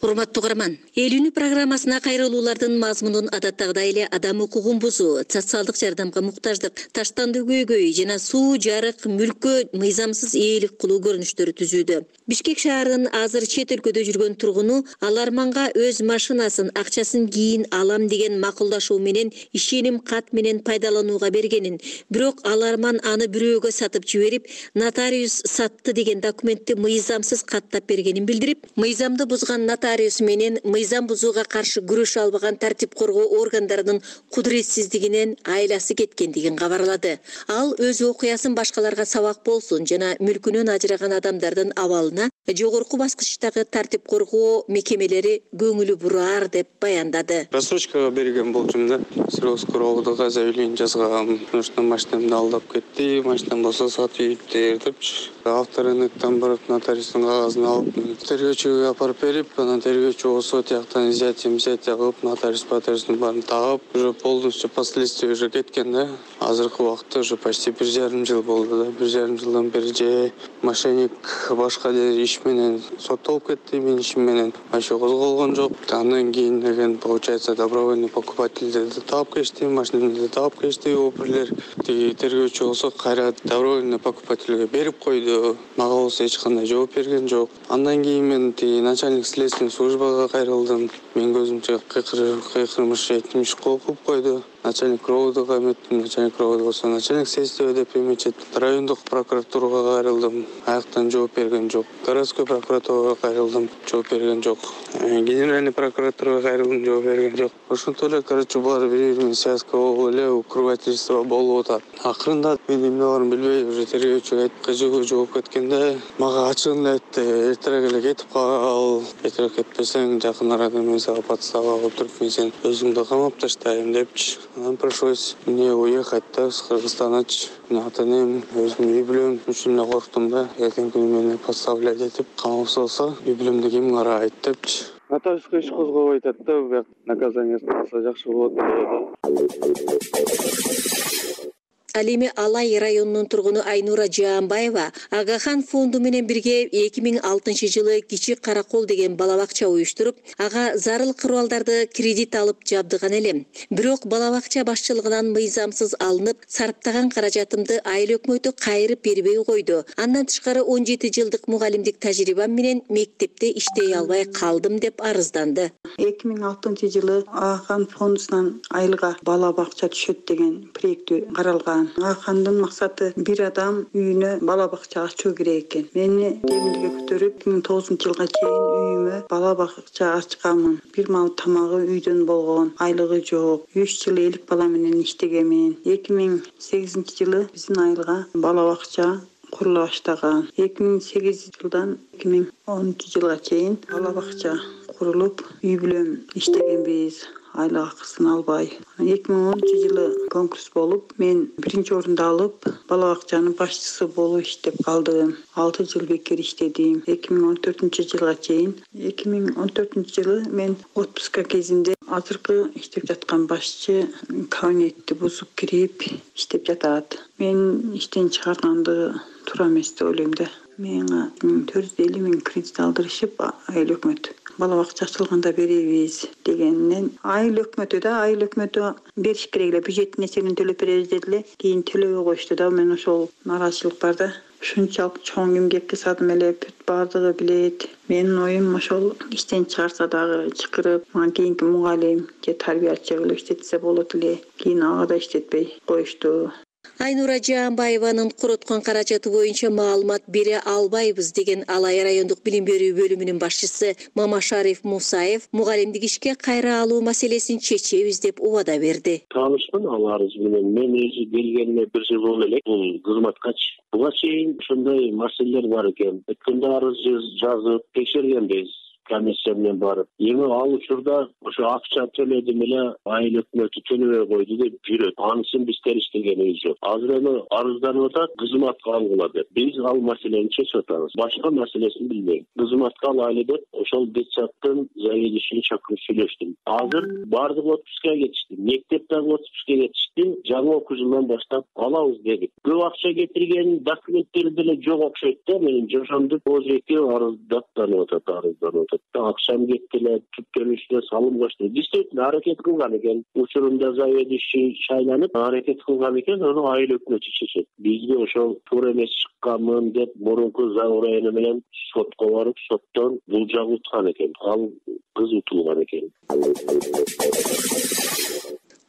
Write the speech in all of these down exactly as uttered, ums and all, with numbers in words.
Урматтуу угарман, эл үнү программасына кайрылуулардын мазмунун адаттагыдай эле адам укугун бузуу, социалдык жардамга муктаждык, таштандуу көйгөй жана суу, жарык, мүлккө мыйзамсыз ээлик кылуу көрүнүштөрү түзүүдө. Бишкек шаарынын азыр чет өлкөдө жүргөн тургуну аларманга өз машинасын, акчасын кийин алам деген макулдашуу менен ишеним кат менен пайдаланууга бергенин, бирок аларман аны бирөөгө сатып жиберип, нотариус сатты деген документти мыйзамсыз каттап бергенин билдирип, мыйзамды бузган нотариус менен мыйзам бузууга каршы күрөшө албаган тартип коргоо органдарынын кудуретсиздигинен айласы кеткендигин кабарлады. Ал өз окуясын башкаларга сабак болсун жана мүлкүнөн ажыраган адамдардын абалына жогорку баскычтагы тартип коргоо мекемелери көңүлү бураар деп баяндады. Рассрочкага берген болчумун да. Сроскового заявление жазгам. Потому что машинамды алдап кетти, машинам болсо сатып депчи. Авторынктан барып нотариустун кагазын алып, тергөөчүгө апарып берип, анан тергөөчү болсо тияктан изятия, изятия кылып, нотариус патеристин баарын тагып, уже полностью последствия уже кеткен да. Азыркы убакытта уже почти бир жарым жыл болду да. Бир жарым жылдан бери же мошенник башка иш менен соттолуп кетти, менин ишим менен ошо козголгон жок. Андан кийин деген получается добровольный покупательдерди таап кетти, машинамды таап кетти оперлер. Тиги тергөөчү болсо кайра добровольный покупательге берип койду. Мага болсо эч кандай жооп берген жок. Андан кийин мен тиги начальник следственный службага кайрылдым. Мен көзүмчө кыйкырмыш жетимиш кылып койду. Начальник ровдга эметтим, начальник ровд болсо начальник следствия деп эметет. Райондук прокуратурага кайрылдым. Аяктан жооп берген жок. Городской прокуратурага кайрылдым. Жооп берген жок. Генеральный прокуратурага кайрылдым, жооп берген жок. Ошентип эле, короче, булар бири бири связка болуп эле укрывательство болуп атат. Акырында мен эмне барын билбей, уже тергөөчүгө айткан жооп кеткенде, мага ачыгын эле айтты, эртерээк эле кетип кал. Эртерээк кетпесең, жакын арада мен сага подстава кылып туруп, мен сени өзүңдү камап таштайм депчи. Анан пришлось мне уехать да, с Кыргызстаначы. Ата энем, өзүм үй бүлөм үчүн эле корктум да. Эртеңки күнү мени подставлять этип, камап салса, үй бүлөмдү ким карайт депчи. Нотариуска иш козгобой атат да, бияк наказаниясын алса жакшы болот эле. Ал эми Алай районунун тургуну Айнура Жаанбаева Агахан фонду менен бирге эки миң алтынчы жылы Кичи Каракол деген бала бакча уюштуруп, ага зарыл куралдарды кредит алып жабдыган элем. Бирок бала бакча башчылыгынан мыйзамсыз алынып, сарптаган каражатымды айыл өкмөтү кайрып бербей койду. Андан тышкары он жети жылдык мугалимдик тажрыйбам менен мектепте иштей албай калдым деп арызданды. эки миң алтынчы жылы Агахан фондунан айылга бала бакча түшөт деген проекти каралган. Агахандын максаты бир адам үйүнө бала бакча ачуу керек экен. Мени кемилге көтөрүп, эки миң тогузунчу жылга чейин үйүмө бала бакча ачканмын. Бир мал тамагы үйдөн болгон, айлыгы жок. үч жыл элик бала менен иштегенмин. эки миң сегизинчи жылы биздин айылга бала бакча курула баштаган. эки миң сегизинчи жылдан эки миң онунчу жылга чейин бала бакча курулуп, үй бүлөм иштегенбиз. Айлык акысын албай. эки миң онунчу жылы конкурс болуп, мен биринчи орунду алып, бала бакчанын башчысы болуп иштеп калдым. алты жыл бекер иштедим. эки миң он төртүнчү жылга чейин. эки миң он төртүнчү жылы мен отпуска кезинде азыркы иштеп жаткан башчы кабинетти бузуп кирип иштеп жатат. Мен иштен чыгарганды туура эмес деп ойлойм да. Менга төрт жүз элүү миң кредит алдырышып, айыл өкмөт бала бакча ачылганда беребиз дегеннен айыл өкмөтү да айыл өкмөтү бериш керек эле, бюджеттин эсебинен төлөп беребиз деди эле. Кийин төлөбөй коюшту да. Мен ошол нааразычылык бар да. Ушунчалык чоң эмгекке садым эле, бүт баардыгы билет. Менин оюм ошол иштен чыгарса дагы чакырып, мага кийинки мугалим же тарбиячы кылып иштетсе болот эле. Кийин ага да иштетпей коюшту. Айнура Жаанбаеванын короткон каражаты боюнча маалымат бере албайбыз деген Алай райондук билим берүү бөлүмүнүн башчысы Мамашариф Мусаев мугалимдик ишке кайра алуу маселесин чечебиз деп убада берди. Таанышмын ал арыз менен. Мен өзү келгениме бир жыл болду элек бул кызматкачы. Буга чейин ушундай маселелер бар экен. Өткөндө арыз жазып текшергенбиз. комиссия менен барып. Эми ал учурда ошо акча төлөдүм эле, айыл өкмөтү төлөбөй койду деп жүрөт. Анысын биз териштегенибиз жок. Азыр эми арызданып атат, кызматка алгыла деп. Биз ал маселени чечип атабыз. Башка маселесин билбейм. Кызматка алайлы деп ошол детсадтын заведующийин чакырып сүйлөштүм. Азыр бардык отпускка кетишти. Мектеп дагы отпускка кетишти. Жаңы окуу жылынан баштап алабыз дедик. Көп акча кетирген документтери деле жок окшойт да. Менин жошондук ожеке арыздаттанып атат, арызданып атат. атат. Акчам кетти эле, түп келиште салым кошду. Действительно аракет кылган экен. Учурунда заведующий шайланып аракет кылган экен, аны айыл өкмөтү чечет. Бизге ошол туура эмес чыкканмын деп мурунку заурайны менен сотко барып, соттон бул жак уткан экен. Ал кыз утулган экен.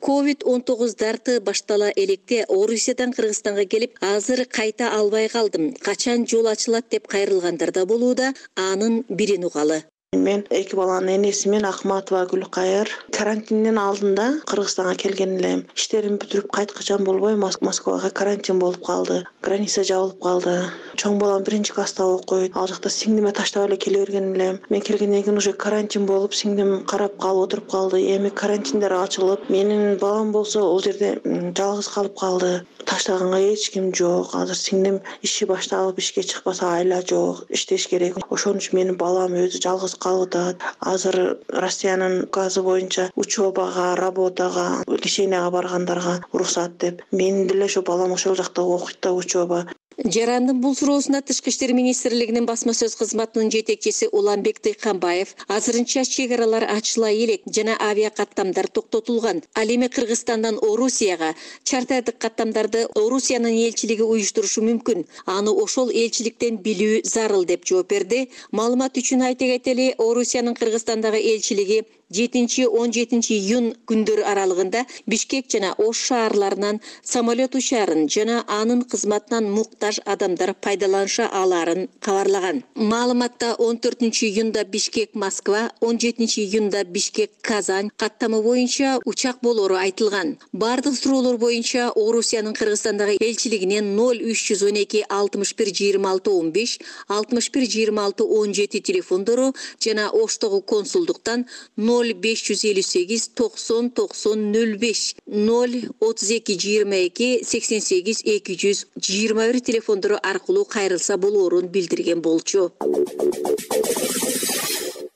ковид он тогуз дарты баштала электе Орусиядан Кыргызстанга келип, азыр кайта албай калдым. Качан жол ачылат деп кайрылгандар да болууда, анын бирин угалы. Мен эки баланын энесимин Акматова Гүлкайыр. Карантиндин алдында Кыргызстанга келген элем. Иштерим бүтүрүп кайткычан болбой Москвага карантин болуп калды. Граница жабылып калды. Чоң балам биринчи класста окуйт. Ал жакта сиңдиме таштап эле келе берген элем. Мен келгенден кийин уже карантин болуп, сиңдим карап калып отуруп калды. Эми карантиндер ачылып, менин балам болсо ол жерде жалгыз калып калды. Таштаганга эч ким жок. Азыр сиңдим иши башталып, ишке чыкпаса айла жок. Иштеш керек. Ошон үчүн менин балам өзү жалгыз калып атат. Азыр Россиянын указы боюнча учебага, работага, леченияга баргандарга уруксат деп. Менин деле ошо балам ошол жакта окуйт да, учеба. Жарандын бул суроосуна Тышкы иштер министрлигинин басма сөз кызматынын жетекчиси Уланбек Дыйканбаев азырынча чек аралар ачыла элек жана авиа каттамдар токтотулган. Ал эми Кыргызстандан Орусияга чартардык каттамдарды Орусиянын элчилиги уюштурушу мүмкүн. Аны ошол элчиликтен билүү зарыл деп жооп берди. Маалымат үчүн айта кетели, Орусиянын Кыргызстандагы элчилиги жетинчи он жетинчи июнь күндөрү аралыгында Бишкек жана Ош шаарларынан самолет учаарын жана анын кызматынан муктаж адамдар пайдаланыша алаарын кабарлаган. Маалыматта он төртүнчү июнда Бишкек Москва, он жетинчи июнда Бишкек Казань каттамы боюнча учак болору айтылган. Бардык суроолор боюнча Орусиянын Кыргызстандагы элчилигинен ноль үч жүз он эки алтымыш бир жыйырма алты он беш, алтымыш бир жыйырма алты он жети телефондору жана Оштогу консулдуктан ноль беш жүз элүү сегиз токсон токсон ноль беш, ноль отуз эки жыйырма эки сексен сегиз эки жүз жыйырма бир телефондору аркылуу кайрылса болоорун билдирген болчу.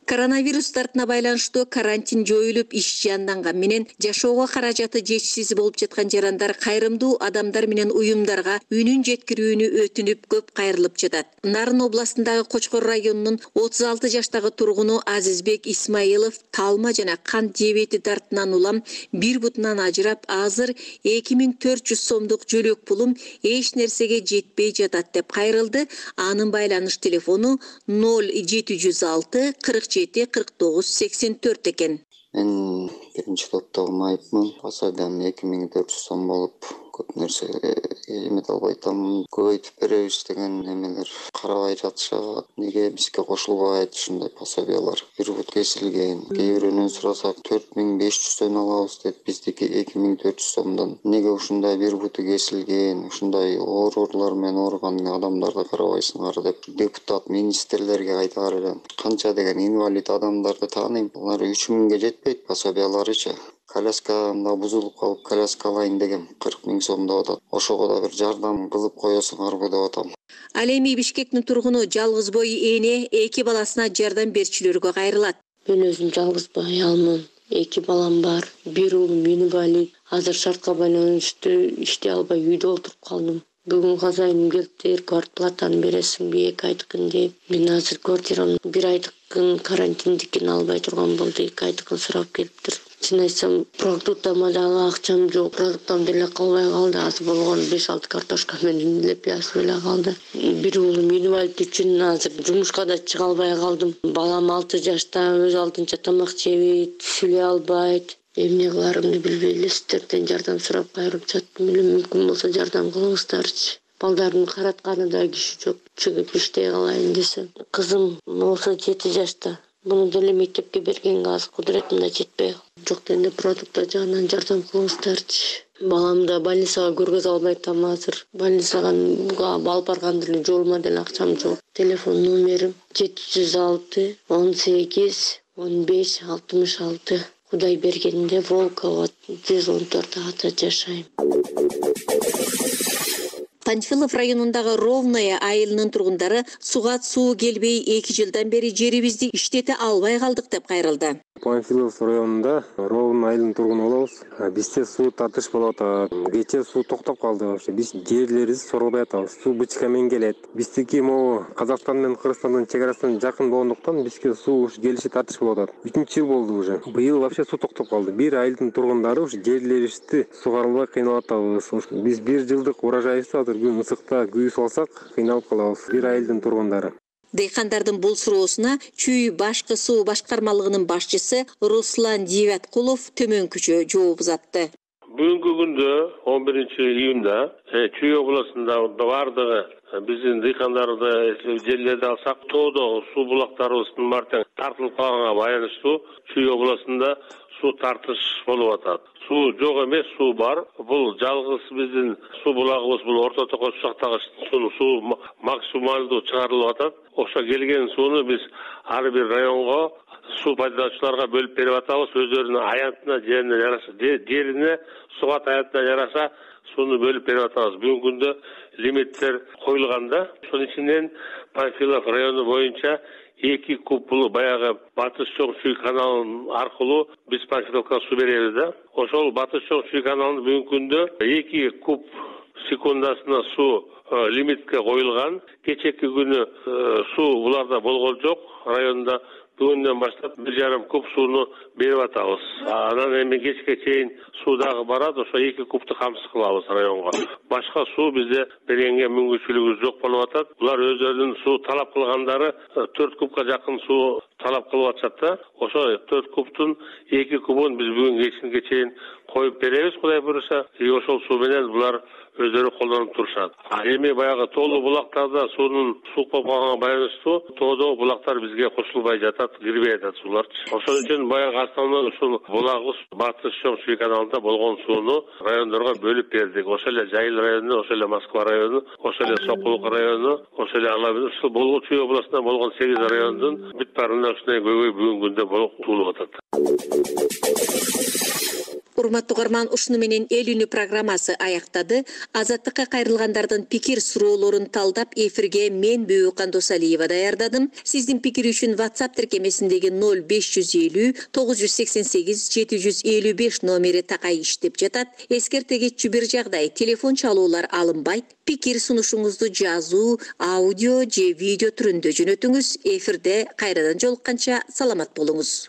Коронавирус тартына байланыштуу карантин жоюлуп, иш жанданган менен жашоого каражаты жетишсиз болуп жаткан жарандар кайрымдуу адамдар менен уюмдарга үнүн жеткирүүнү өтүнүп көп кайрылып жатат. Нарын областындагы Кочкор районунун отуз алты жаштагы тургуну Азизбек Исмаилов талма жана кант диабети дартынан улам бир бутунан ажырап, азыр эки миң төрт жүз сомдук жөлөк пулум эч нерсеге жетпей жатат деп кайрылды. Анын байланыш телефону ноль жети жүз алты кырк жети кырк тогуз сексен төрт экен. Мен биринчи топтогу майыпмын. Пособиям эки миң төрт жүз сом болуп, көп нерсе эмете албай атам. Көбөйтүп беребиз деген эмелер карабай жатышат. Неге бизге кошулбайт ушундай пособиялар? Бир бут кесилген. Кээ бирөөнөн сурасак төрт миң беш жүздөн алабыз дейт, биздики эки миң төрт жүз сомдон. Неге ушундай бир буту кесилген, ушундай оорулар менен ооруган адамдарды карабайсыңар деп депутат министрлерге айтаар элем. Канча деген инвалид адамдарды тааныйм. Алар үч миңге жетпейт пособияларычы. Коляскамда бузулуп калып, коляска алайын дегем, кырк миң сом деп атат. Ошого да бир жардам кылып коесуңарбы деп атам. Ал эми Бишкектин тургуну жалгыз бой эне эки баласына жардам берчүлөргө кайрылат. Мен өзүм жалгыз аялмын. Эки балам бар. Бир уулум инвалид. Азыр шартка байланыштуу иштей албай үйдө отуруп калдым. Бүгүн казайым келиптир, квартплатаны бересиңби эки айдыкын деп. Мен азыр квартирамды бир айдыкын карантиндикин албай турган болду, эки айдыкын сурап келиптир. Чын айтсам, продуктама дагы акчам жок. Продуктам деле калбай калды. Азыр болгону беш алты картошка менен эле пияз эле калды. Бир уулум инвалид үчүн азыр жумушка да чыга албай калдым. Балам алты жашта, өз алдынча тамак жебейт, сүйлөй албайт. Эмне кыларымды билбей эле сиздерден жардам сурап кайрылып жаттым эле. Мүмкүн болсо жардам кылыңыздарчы. Балдардын каратканы да киши жок. Чыгып иштей калайын десем. Кызым болсо жети жашта. Буну деле мектепке бергенге азыр кудуретимде жетпей жок дегенде продукттар жагынан жардам кылыңыздарчы. Баламды больницага көргөзө албай атам азыр. Больницага алып барган деле жолума деле акчам жок. Телефон номерим жети жүз алты он сегиз он беш алтымыш алты. Кудай бергенде Волкова жүз он төрт ата жашайм. Панфилов районундагы Ровное айылынын тургундары суга суу келбей эки жылдан бери жерибизди иштете албай калдык деп кайрылды. Панфилов районунда Ровное айылынын тургуну болобуз. Бизде суу тартыш болуп атат. Кечээ суу токтоп калды вообще. Биз жерлерибизди соролбой атабыз. Суу бычка менен келет. Биздики могу Казакстан менен Кыргызстандын чек арасынан жакын болгондуктан бизге суу келиши тартыш болуп атат. үчүнчү жыл болду уже. Быйыл вообще суу токтоп калды. Бир айылдын тургундары ушу жерлерибизди сугара албай кыйналып атабыз. Биз бир жылдык урожайыбызды азыр күн ысыкта күйүүсүп алсак кыйналып калабыз. Бир айылдын тургундары. Дейкандардын бул суроосуна Чүй башкы суу башкармалыгынын башчысы Руслан Дивяткулов төмөнкүчө жооп узатты. Бүгүнкү күндө он биринчи июнда Чүй областында бардыгы биздин дыйкандарды жерлерди алсак, тоодо суу булактарыбыздын баары тартылып калганга байланыштуу Чүй областында суу тартыш болуп атат. Суу жок эмес, суу бар. Бул жалгыз биздин суу булагыбыз, бул Орто Токочтактагы суу максималдуу чыгарылып атат. Ошо келген сууну биз ар бир районго суу пайдалануучуларга бөлүп берип атабыз. Өздөрүнүн аянтына, жерине жараша, жерине суга аянтына жараша сууну бөлүп берип атабыз. Бүгүнкү күндө лимиттер коюлганда, ошонун ичинен Панфилов району боюнча эки куб бул баягы Батыш Чоң Чүй каналынын аркылуу биз Панфиловко суу беребиз да. Ошол Батыш Чоң Чүй каналынын бүгүнкү күндө эки куб секундасына суу лимитке коюлган. Кечээки күнү суу буларда болгон жок. Районда бүгүндөн баштап бир жарым куб сууну берип атабыз. Анан эми кечке чейин суу дагы барат, ошо эки кубту камсыз кылабыз районго. Башка суу бизде бергенге мүмкүнчүлүгүбүз жок болуп атат. Булар өздөрүнүн суу талап кылгандары төрт кубка жакын суу талап кылып атышат да. Ошо төрт кубтун эки кубун биз бүгүн кечинге чейин коюп беребиз, Кудай буюрса. И ошол суу менен булар өздөрү колдонуп турушат. А эми баягы тоолуу булактарда суунун суук болуп калганга байланыштуу тоодо булактар бизге кошулбай жатат, кирбей жатат сууларчы. Ошон үчүн баягы основной ушул булагыбыз Батыш Чоң Чүй каналында болгон сууну райондорго бөлүп бердик. Ошол эле Жайыл району, ошол эле Москва району, ошол эле Сокулук району, ошол эле Алабы, ушул бул Чүй областында болгон сегиз райондун бүт баарында ушундай көйгөй бүгүнкү күндө болуп туулуп атат. Урматтуу угарман, ушуну менен эл үнү программасы аяктады. Азаттыкка кайрылгандардын пикир суроолорун талдап эфирге мен Бөөкан Досалиева даярдадым. Сиздин пикир үчүн WhatsApp тиркемесиндеги ноль беш жүз элүү тогуз жүз сексен сегиз жети жүз элүү беш номери такай иштеп жатат. Эскерте кетчү бир жагдай, телефон чалуулар алынбайт. Пикир сунушуңузду жазуу, аудио же видео түрүндө жөнөтүңүз. Эфирде кайрадан жолукканча саламат болуңуз.